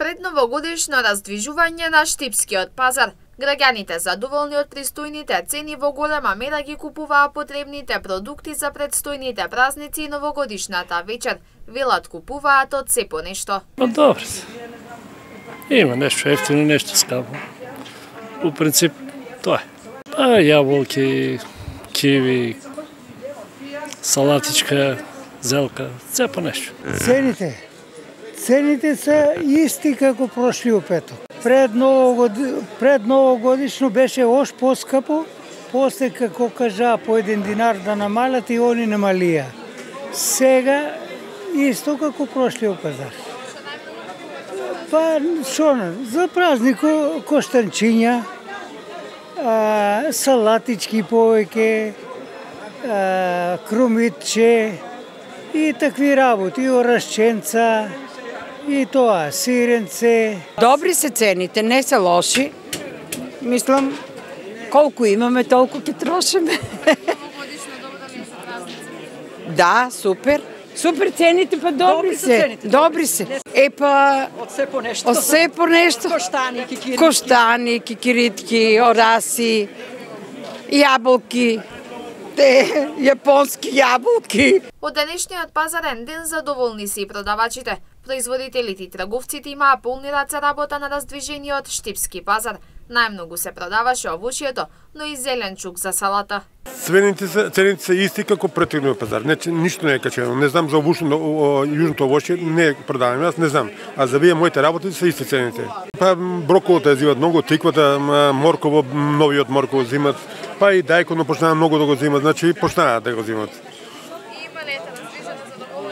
Пред новогодишно раздвижување на Штипскиот пазар, граѓаните задоволни од пристојните цени во голема мера ги купуваа потребните продукти за предстојните празници и новогодишната вечер. Велат купуваат од се по нешто. Добро се. Има нешто ефтино, нешто скапо. У принцип, тоа е. Јаболки, киви, салатичка, зелка, се по нешто. Цените се исти како прошлиот петок. Пред новогодишно беше ош поскапо, после како кажа по 1 динар да намалат и они намалија. Сега исто како прошлиот пазар. Па шо, за празник коштанчиња, салатички повеќе, крумитче и такви работи, орашченца. И тоа, сиренце. Добри се цените, не се лоши. Мислам, колку имаме, толку ќе трошиме. Да, супер. Супер цените, па добри се. Добри се. Па од се по нешто. Од се по нешто. Коштани, кикиритки, ораси, јаболки. Јапонски јаболки. Од денешниот пазарен ден задоволни се и продавачите. Производителите и трговците имаа полни раце работа на раздвижениот Штипски пазар. Најмногу се продаваше овошјето, но и зеленчук за салата. Цените се исти како претходниот пазар. Ништо не е качено. Не знам за јужното овошје, не продавам, јас не знам. А за вие моите работи се исти цените. Па броколото ја зимат многу, тиквата, морково, новиот морково зимат, па и дајконо почнаа многу да го зимат, значи почнаа да го зимат.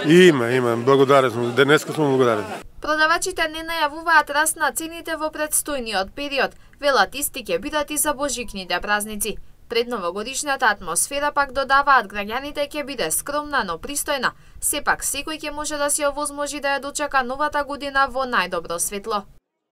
Има, благодарен сум. Денеска сум благодарен. Продавачите не најавуваат раст на цените во предстојниот период. Велат исти ќе бидат и за божикните празници. Пред новогодишната атмосфера пак додаваат граѓаните ќе биде скромна, но пристојна. Сепак секој ќе може да си овозможи да ја дочека новата година во најдобро светло.